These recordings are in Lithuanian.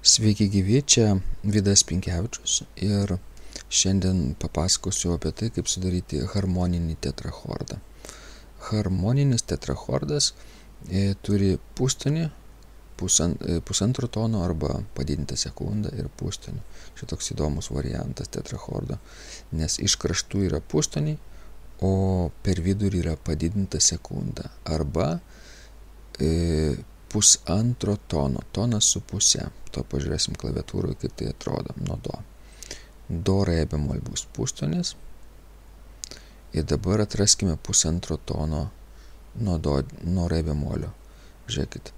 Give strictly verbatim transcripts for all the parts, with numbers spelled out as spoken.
Sveiki gyvi, čia Vidas Pinkevičius ir šiandien papasakosiu apie tai, kaip sudaryti harmoninį tetrachordą. Harmoninis tetrachordas e, turi pustonį, pusan, e, pusantro tono arba padidintą sekundą ir pustonį. Šitoks įdomus variantas tetrachordo, nes iš kraštų yra pustoniai, o per vidurį yra padidinta sekunda arba e, pusantro tono, tonas su puse. To pažiūrėsim klaviatūroje, kaip tai atrodo nuo do. Do, re bemol bus pustonis. Ir dabar atraskime pusantro tono nuo do, nuo re bemolio. Žiūrėkit,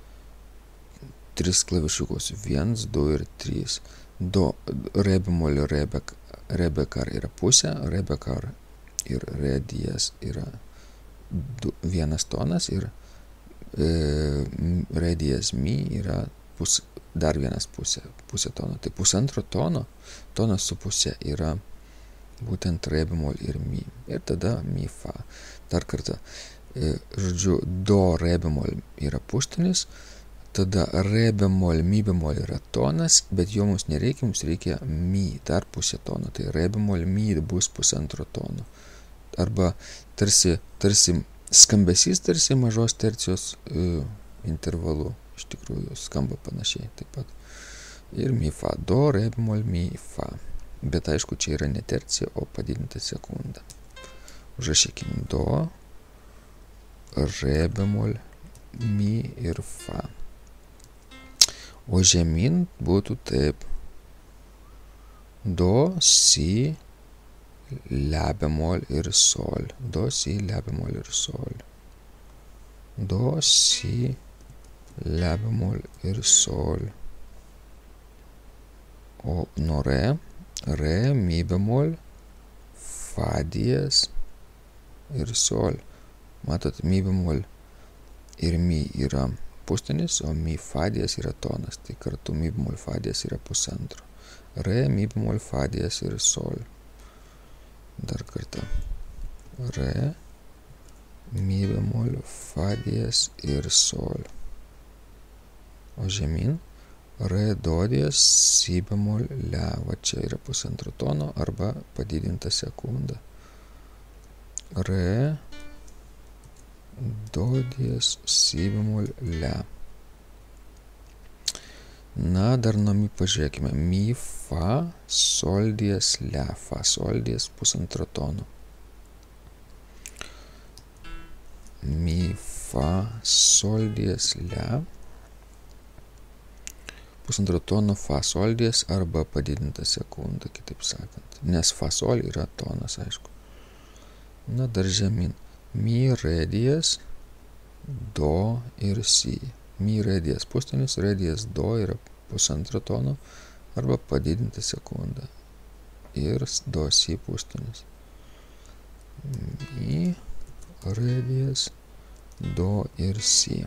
tris klavišiukus, vienas, du ir trys. Do, re bemolio, re, be, re bekar yra pusė, re bekar ir re diez yra du, vienas tonas ir e, re diez mi yra pus, dar vienas pusė, pusė tono. Tai pusantro tono, tonas su pusė yra būtent re bemol ir mi. Ir tada mi fa. Dar kartą, e, žodžiu, do, re bemol yra pustonis, tada re bemol, mi bemol yra tonas, bet jo mums nereikia, mums reikia mi, dar pusė tono. Tai re bemol, mi bus pusantro tono. Arba tarsi, tarsi skambesys, tarsi mažos tercijos e, intervalu. Iš tikrųjų skamba panašiai taip pat. Ir mi fa, do, re bemol, mi fa. Bet aišku, čia yra ne tercija, o padidinta sekunda. Užrašykim do, re bemol, mi ir fa. O žemyn būtų taip. Do, si, la bemol ir sol. Do, si, la bemol ir sol. Do, si, la bemol ir sol. O nuo re, re, mi bemol, fa diez ir sol. Matot, mi bemol ir mi yra pustonis, o mi fa diez yra tonas. Tai kartu mi bemol fa diez yra pusantro. Re, mi bemol, fa diez ir sol. Dar kartą. Re, mi bemol, fa diez ir sol. O žemyn, re, do diez, si bemol, la. Va čia yra pusantro tono arba padidinta sekunda. Re, do diez, si bemol, la. Na, dar nuo mi pažiūrėkime. Mi, fa, sol diez, la. Fa, sol diez, pusantro tono. Mi, fa, sol diez, la. Pusantro tono fa sol diez arba padidinta sekunda, kitaip sakant. Nes fa sol yra tonas, aišku. Na, dar žemyn. Mi, re diez, do ir si. Mi, re diez pustonis, re diez, do yra pusantro tono arba padidinta sekunda. Ir do, si pustonis. Mi, re diez, do ir si.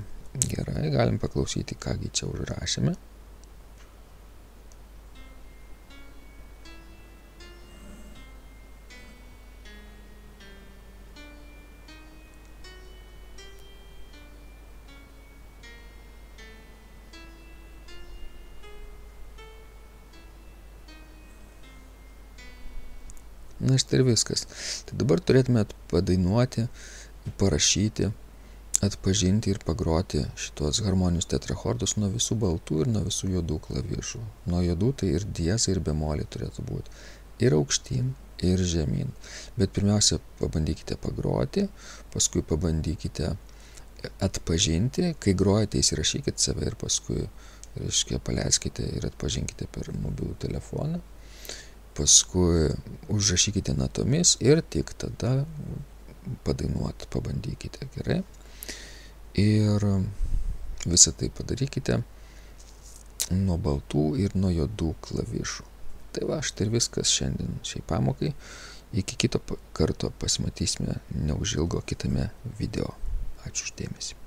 Gerai, galim paklausyti, kągi čia užrašėme. Na, štai ir viskas. Tai dabar turėtumėt padainuoti, parašyti, atpažinti ir pagroti šitos harmoninius tetrachordus nuo visų baltų ir nuo visų juodų klavišų. Nuo juodų tai ir diezai, ir bemoliai turėtų būti. Ir aukštyn, ir žemyn. Bet pirmiausia, pabandykite pagroti, paskui pabandykite atpažinti. Kai grojate, įsirašykite save ir paskui, reiškia, paleiskite ir atpažinkite per mobilų telefoną. Paskui užrašykite natomis ir tik tada padainuoti, pabandykite, gerai. Ir visą tai padarykite nuo baltų ir nuo juodų klavišų. Tai va, štai ir viskas šiandien šiai pamokai. Iki kito karto pasimatysime neužilgo kitame video. Ačiū už dėmesį.